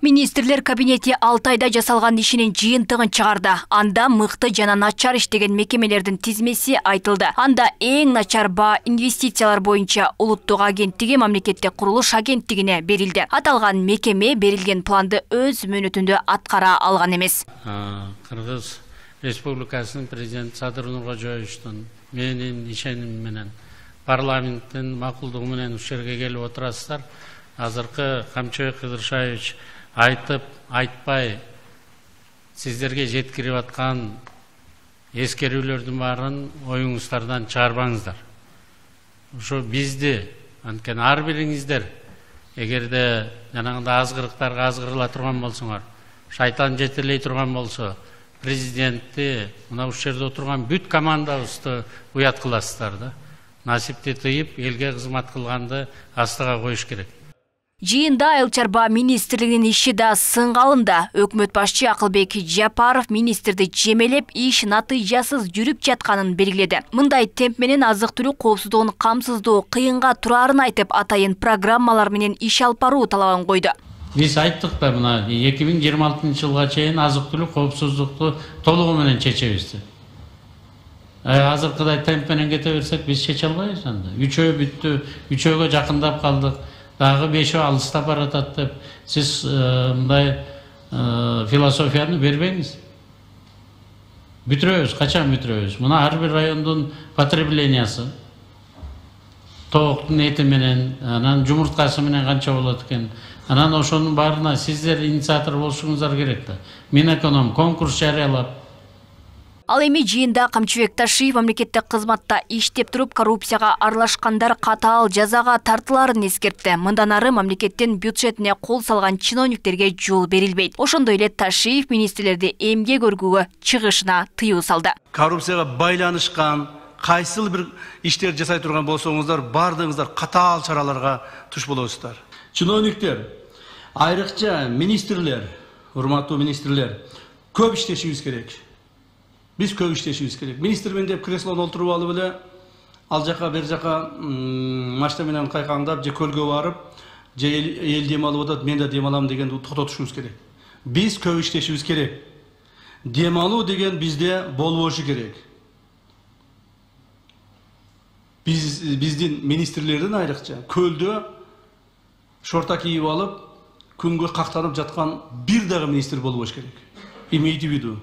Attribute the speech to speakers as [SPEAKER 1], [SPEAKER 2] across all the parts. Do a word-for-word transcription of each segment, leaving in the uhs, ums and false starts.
[SPEAKER 1] Министрлер кабинети алты айда жасалган ишинин жыйынтыгын чыгарды. Анда мыкты жана начар иштеген мекемелердин тизмеси айтылды. Анда эң начар баа инвестициялар боюнча улуттук агенттиги мамлекеттик курулуш агенттигине берилди. Аталган мекеме берилген планды өз мөөнөтүндө аткара алган эмес.
[SPEAKER 2] Кыргыз Республикасынын президенти Садыр Нуркожоевичтин менин ишеним менен парламенттин макулдугу менен ушул жерге келип отурасыздар. Азыркы Камчыбек Кыдыршаевич айтып, айтпай сиздерге жеткирип аткан эскерүүлөрдүн баарын оюңуздардан чыгарбаңыздар. Ошо бизди, анткени ар бириңиздер эгерде жанагындай азгырыктарга азгырыла турган болсоңор, шайтан жетелей турган болсо, президентти, мына ушул жерде отурган бүт командабызды уят кыласыздар да. Насипти тыйып, элге кызмат кылганды астыга коюш керек.
[SPEAKER 1] Жыйында Айыл чарба министрлигинин иши да сынгалында. Өкмөт башчы Акылбек Жапаров министрди жемелеп, иш натыйжасыз жүрүп жатканын белгиледи. Мындай темп менен азык-түлүк коопсуздугун камсыздоо кыйынга турарын айтып, атайын программалар менен иш алып баруу талабын койду.
[SPEAKER 2] Биз айттык да, мына эки миң жыйырма алтынчы жылга чейин азык-түлүк коопсуздукту толугу менен чечебиз деп. Азыркыдай темп менен кете берсек, биз чече албайбыз анда. Үчөө бүттү, үчөөгө жакындап калдык. Дагы бешөө алыстап баратат деп, сиз мындай философияны бербеңиз. Бүтүрөбүз, качан бүтүрөбүз? Мына ар бир райондун потреблениясы, тооктун эти менен, анан жумурткасы менен канча болот экен. Анан ошонун баарына сиздер инициатор болушуңуздар керек да. Минэконом конкурс жарыялап.
[SPEAKER 1] Ал эми жыйында Камчыбек Ташиев мамлекеттик кызматта иштеп туруп коррупцияга аралашкандар катаал жазага тартыларын эскертти. Мындан ары мамлекеттин бюджетине кол салган чиновниктерге жол берилбейт. Ошондой эле Ташиев министрлерди эмгек өргүүгө чыгышына тыюу салды.
[SPEAKER 3] Коррупцияга байланышкан кайсыл бир иштер жасай турган болсоңуздар, бардыгыңыздар катаал чараларга туш болосуздар. Чиновниктер, айрыкча министрлер, урматтуу министрлер, көп иштешибиз керек. Биз көп иштешибиз керек. Министрмен деп креслоно олтуруп алып эле ал жака бер жака машина менен кайкаңдап, же көлгө барып, же эл дем алып атат, мен да дем алам дегенди токтотушубуз керек. Биз көп иштешибиз керек. Дем алуу деген бизде болбошу керек. Биз биздин министрлердин айрыкча көлдө шорта кийип алып, күнгө кактанып жаткан бир дагы министр болбош керек. Имейте в виду.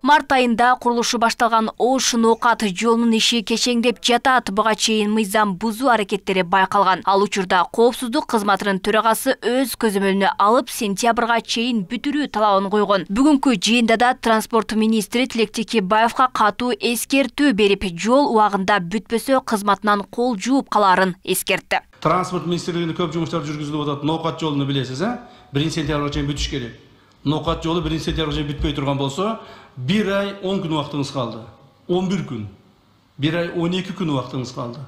[SPEAKER 1] Март айында курулушу башталган Ош Ноокат жолунун иши кечеңдеп жатат. Буга чейин мыйзам бузуу аракеттери байкалган. Ал учурда коопсуздук кызматынын төрагасы өз көзөмөлүнө алып, сентябрга чейин бүтүрүү талабын койгон. Бүгүнкү жыйында да транспорт министри Тилек Текебаевга катуу эскертүү берип, жол убагында бүтпөсө кызматынан кол жууп калаарын эскертти.
[SPEAKER 3] Транспорт министрлигинде көп жумуштар жүргүзүлүп атат. Ноокат жолуну билесиз, э? биринчи сентябрга чейин бүтүш керек. Ноокат жолу биринчи сентябрга чейин бүтпөй турган болсо, бир ай он күн убактыңыз калды. он бир күн. бир ай он эки күн убактыңыз калды.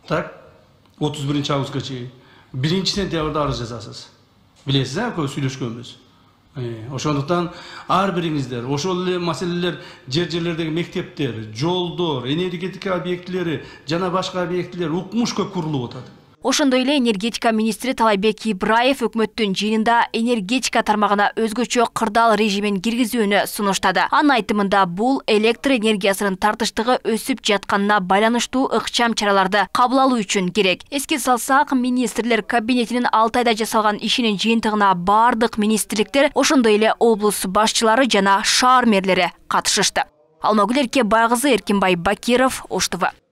[SPEAKER 3] Так, отуз биринчи августка чейин. биринчи сентябрда арыз жазасыз. Билесиз, э, көп сүйлөшкөнбүз. Ошондуктан ар бириңиздер, ошол эле маселелер жер жерлердеги мектептер, жолдор, энергетика объектилери жана башка объектилер укмуш көп курулуп атат.
[SPEAKER 1] Ошондой эле энергетика министри Талайбек Ибраев өкмөттүн жыйынында энергетика тармагына өзгөчө кырдаал режимин киргизүүнү сунуштады. Анын айтымында бул электр энергиясынын тартыштыгы өсүп жатканына байланыштуу ыкчам чараларды кабыл алуу үчүн керек. Эске салсак, министрлер кабинетинин алты айда жасалган ишинин жыйынтыгына бардык министрликтер, ошондой эле облус башчылары жана шаар мэрлери катышышты. Алмагүл Эркебайкызы, Эркинбай Бакиров, Ош Т В.